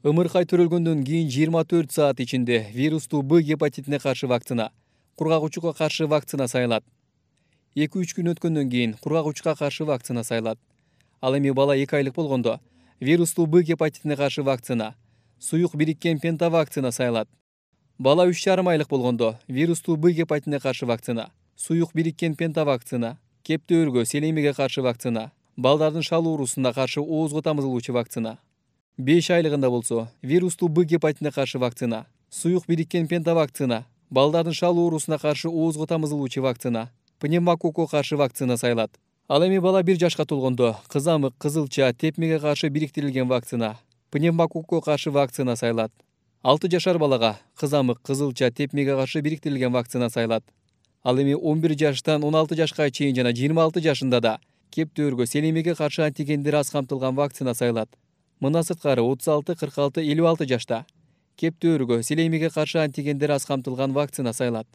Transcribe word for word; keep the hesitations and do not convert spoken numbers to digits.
Ымыркай төрөлгөндөн кийин жыйырма төрт саат ичинде вирустуу Б гепатитине каршы вакцина, кургак-учукка каршы вакцина сайылат. эки үч күн өткөндөн кийин кургак-учукка каршы вакцина сайылат. Ал эми бала эки айлык болгондо вирустуу Б гепатитине каршы вакцина, суюк бириккен пентавакцина сайылат. Бала үч жарым айлык болгондо вирустуу Б гепатитине каршы вакцина, суюк бириккен пентавакцина, кептөөргө, селемиге каршы вакцина, балдардын шал оорусуна каршы оозго тамызылуучу вакцина. беш айлыгында болсо вирустуу Б гепатитине каршы вакцина, суюк бириккен пентавакцина, балдардын шал оорусуна каршы оозго тамызылуучу вакцина, пневмококко каршы вакцина сайылат. Ал эми бала бир жашка толгондо кызамык, кызылча, тепмеге каршы бириктирилген вакцина, пневмококко каршы вакцина сайылат. алты жашар балага кызамык, кызылча, тепмеге каршы бириктирилген вакцина сайылат. Ал эми он бир жаштан он алты жашка чейин жана жыйырма алты жашында да кептөөргө, селемиге каршы антигендери аз камтылган вакцина сайылат. Мындан сырткары отуз алты, кырк алты, элүү алты жашта кептөөргө, селемиге каршы антигендери аз камтылган вакцина сайылат.